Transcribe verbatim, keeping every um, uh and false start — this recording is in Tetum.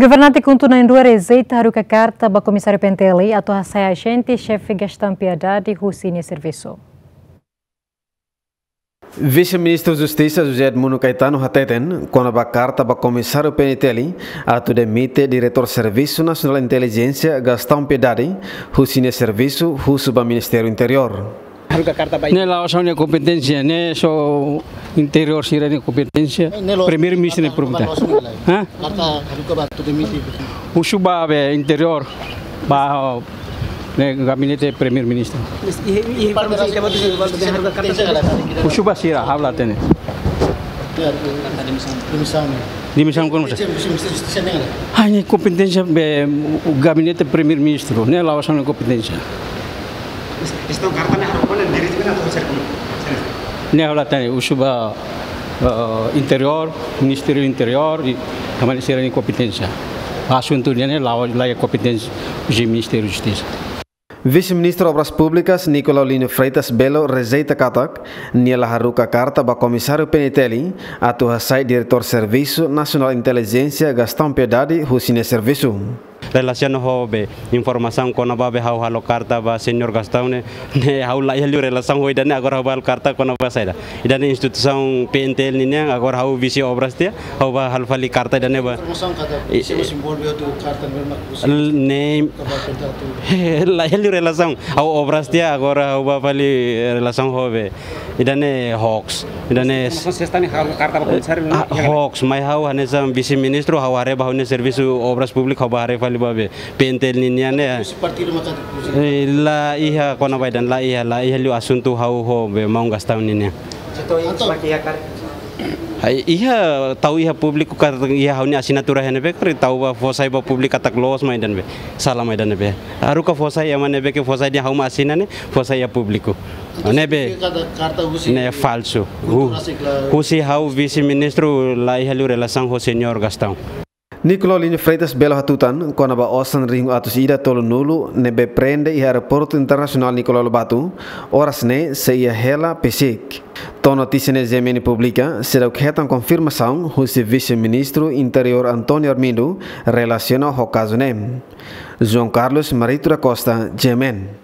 Governante KHUNTO na'in-rua rejeita haruka karta ba Komisáriu P N T L atu hasai ajente xefe Gastão Piedade husi nia servisu. Vise-Ministru Justisa José Edmundo Caetano hateten kona-ba karta ba Komisáriu P N T L atu demite Diretór Servisu Nasionál Intelijénsia Gastão Piedade husi nia servisu husu ba Ministériu Interiór. Haruka karta ba ne'e la'ós ha'u-nia kompeténsia, ne'e só interiór sira-nia kompeténsia. Ne'e la'ós, Primeiru-Ministru nia karta, problema. La'ós ne'e lai. Hah? Karta haruka ba atu demite. Husu ba be interiór, ba ne'e gabinete Primeiru-Ministru. Husu ba sira, ha'u la hatene. Demisaun ne'e. Demisaun kona-ba sá? Ha'u-nia kompeténsia be gabinete Primeiru-Ministru, ne'e la'ós ha'u-nia kompeténsia. Ne'e ha'u la hatene, husu ba, eh, Interiór, Ministériu Interiór, i tanba ne'e sira-nia kompeténsia. Asuntu ne'e la'ós, la'ós kompeténsia husi Ministériu Justisa. Vise-Ministru Obras Públikas Nicolau Lino Freitas Belo rejeita katak nia la haruka karta ba Komisáriu P N T L atu hasai Diretór Servisu Nasionál Intelijénsia Gastão Piedade husi nia servisu. Relasiona ho be informasaun kona-ba be ha'u halo karta ba Señór Gastão ne'e, ne'e ha'u la iha liu relasaun ho ida-ne'e, agora ha'u ba halo karta kona-ba saida. Ida-ne'e instituisaun P N T L ninian, agora ha'u vise obras tiha, ha'u ba halo fali karta ida-ne'e ba. Informasaun katak i, se i, envolve outro karta ne'ebé mak husi, ne'e, la iha liu relasaun. Ha'u obras tiha, agora ha'u ba fali relasaun ho be. Ida-ne'e hoax. Ida-ne'e informasaun sesta ne'e ha'u karta ba Komisáriu, ah, ne'e hoax. Mai ha'u hanesan Vise-Ministru, ha'u haree ba ha'u-nia servisu Obras Públikas, ha'u ba haree fali ba be P N T L ninian ne'e. Husi partidu mak atu husi? Eh, la iha kona-ba ida-ne'e, la iha, la iha liu asuntu ha'u ho be maun Gastão ninian. Setor ini seperti ya, Kak? Ai, iha, tau iha públiku katak iha ha'u-nia asinatura iha ne'ebé karik tau ba fó sai ba públiku katak loos mak ida-ne'ebé. Sala mak ida-ne'ebé. Haruka fó sai ema ne'ebé ke fó sai dehan ha'u mak asina ne'e, fó sai iha públiku. Ne'ebé. Karta, karta husi ne'e falsu. KHUNTO rasik la. Husi ha'u Vise-Ministru la iha liu relasaun ho Señór Gastão. Nicolau Lino Freitas Belo hatutan kona-ba osan rihun atus ida tolunulu ne'ebé prende iha Aeroportu Internasionál Nicolau Lobato, oras ne'e sei iha hela PCIC. To'o notísia ne'e G M N publika, seidauk hetan konfirmasaun husi Vise-Ministru Interiór António Armindo relasiona ho kazu ne'e. João Carlos Marito da Costa, G M N.